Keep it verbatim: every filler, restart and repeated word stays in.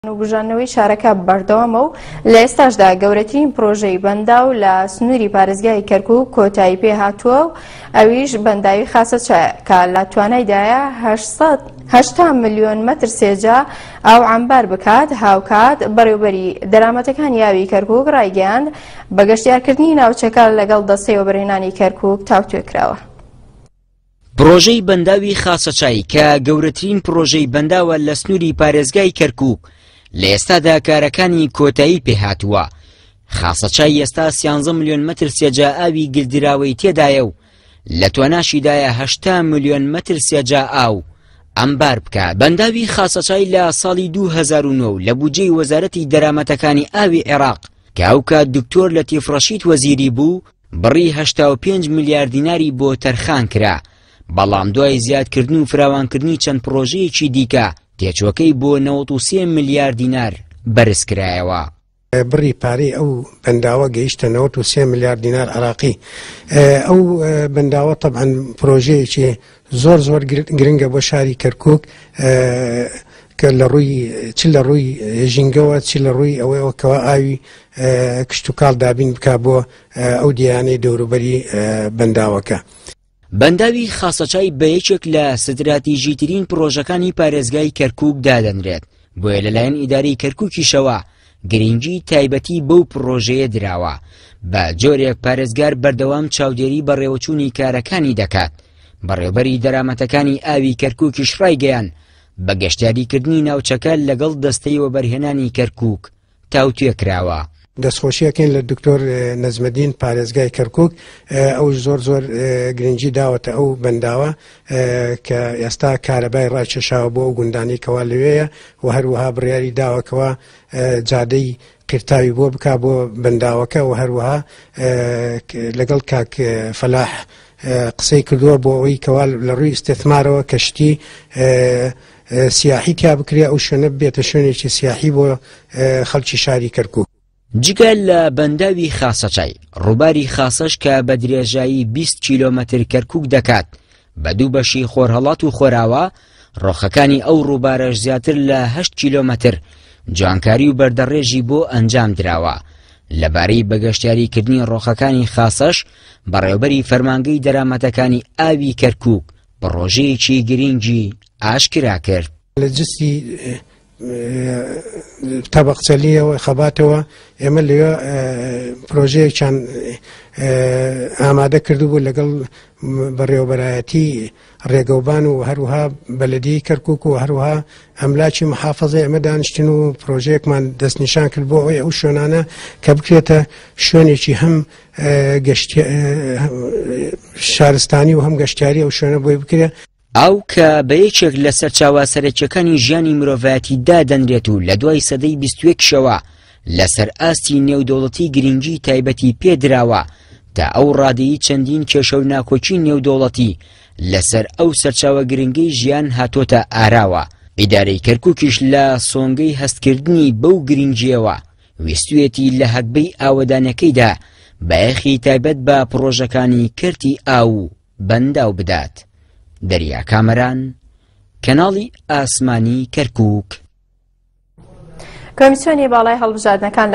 و بژاندنەوەی شارەکە بەردەوامە و لە ئێستاشدا گەورەترین پرۆژەی بەنداو لە سنووری پارێزگای کەرکوک کۆتایی پێهاتووە و ئەویش بەنداوی خاسەچایە کە لە توانایدایە هەشتا ملیۆن مەتر سێجا ئاو عەمبار بکات. هاوکات بەڕێوبەری دەرامەتەکانی ئاوی کەرکوک ڕایگەیاند بە گەشتیارکردنی ناوچەکە لەگەڵ دەستەی وەبەرهێنانی کەرکوک تاوتوێ کراوە. پرۆژەی بەنداوی خاسەچای کە گەورەترین پرۆژەی بەنداوە لە سنووری پارێزگای کەرکوک لە ئێستادا کارەکانی کۆتایی پێهاتووە. خاسەچای ئێستا سیانزە ملیۆن مەتر سێجا ئاوی گلدراوەی تێدایە و لە تواناشیدایە هەشتا ملیۆن مەتر سێجا ئاو ئەمبار بکات. بەنداوی خاسەچای لە ساڵی دوو هەزار و نۆ لە بودجەی وەزارەتی دەرامەتەکانی ئاوی عێراق کە ئەو کات دکتۆر لەتیف ڕەشید وەزیری بوو بڕی هەشتا و پێنج ملیار دیناری بۆ تەرخان کرا، بەڵام دوای زیادکردن و فراوانکردنی چەند پرۆژەیەکی دیکە تێچوەکەی بۆ نەوەد و سێ ملیار دینار بەرز کرایەوە. بڕی پارەی ئەو بەنداوە گەیشتە نەوەد و سێ ملیار دینار عراقی. ئەو بەنداوە طبعا پرۆژەیەکی زۆر زۆر گرنگە بۆ شاری کەرکوک کە لە ڕووی چ لە ڕووی ژینگەوە چ لە ڕووی ئەوەیەوە کەوا ئاوی کشتتوکاڵ دابین بکا بۆ ئەو دیانەی دەوروبەری بەنداوەکە. بەنداوی خاسەچای بە یەکێک لە ستراتیژیترین پرۆژەکانی پارێزگای کەرکوک دادەنرێت، بۆیە لەلایەن ئیدارەی کەرکوکیشەوە گرنگی تایبەتی بەو پرۆژەیە دراوە. بە جۆرێک پارێزگار بەردەوام چاودێری بەڕێوەچوونی کارەکانی دەکات. بەڕێوبەری دەرامەتەکانی ئاوی کەرکوکیش ڕایگەیان بە گەشتیاریکردنی ناوچەکە لەگەڵ دەستەی وەبەرهێنانی کەرکوک تاوتوێ کراوە. دەستخۆشیەکەین لە دکتۆر نەجمەدین پارێزگای کەرکوک، ئەو زۆر زۆر گرنگی داوەتە ئەو بەنداوە کە ئێستا کارەبای ڕاکێشاوە بۆ ئەو گوندانەی کەوا لەوێیە و هەروەها بڕیاری داوەکەوە جادەی قیرتاوی بۆ بک بۆ بەنداوەکە و هەروەها لەگەڵ کاک فەلاح قسەی کردووە بۆ ئەوەی کەوا لە ڕووی ئیستیثمارەوە کەشتی سیاحی تیا بکرێ، ئەو شوێنە بێتە شوێنێکی سیاحی بۆ خەڵکی شاری کەرکوک. جگە لە بەنداوی خاسەچای، ڕووباری خاسەش کە بە درێژایی بیست کیلۆمەتر کەرکوک دەکات بە دوو بەشی خۆرهەڵات و خۆراوە، ڕۆخەکانی ئەو ڕووبارەش زیاتر لە هەشت کیلۆمەتر جوانکاری و بەردەڕێژی بۆ ئەنجام دراوە. لەبارەی بەگەشتیاریکردنی ڕۆخەکانی خاسەش، بەڕێوبەری فەرمانگەی دەرامەتەکانی ئاوی کەرکوک پڕۆژەیەکی گرنگی ئاشکرا کرد. لە جستی تەبەقچەلیەوە خەباتەوە ئێمە لەوێ پرۆژەیەکیان ئامادە کردبوو لەگەڵ بەڕێوەبەرایەتی ڕێگەوبان و هەروەها بەلەدیی کەرکوک و هەروەها ئەملاکی محافظەی ئەمە دانیشتن و پرۆژەیەکمان دەستنیشان کرد بۆ ئەوەی ئەو شوێنانە کە بکرێتە شوێنێکی هەم شارستانی و هەم گەشتیاری ئەو شوێنە بۆی بکرێت. ئاو کە بە یەکێک لە سەرچاوە سەرەکیەکانی ژیانی مرۆڤایەتی دادەنرێت و لە دوای سەدەی بیست و یەکشەوە لەسەر ئاستی نێودەوڵەتی گرنگی تایبەتی پێدراوە تا ئەو ڕادەی چەندین کێشە و ناکۆکی نێودەوڵەتی لەسەر ئەو سەرچاوە گرنگەی ژیان هاتۆتە ئاراوە. ئیدارەی کەرکوکیش لە سۆنگەی هەستکردنی بەو گرنگیەوە ویستوێتی لە هەگبەی ئاوەدانەکەیدا بایەخی تایبەت بە پرۆژەکانی کەرتی ئاو و بەنداو بدات. دەریا کامەران، کەناڵی ئاسمانی کەرکوک. کۆمیسیۆنی باڵای هەڵبژاردنەکان لە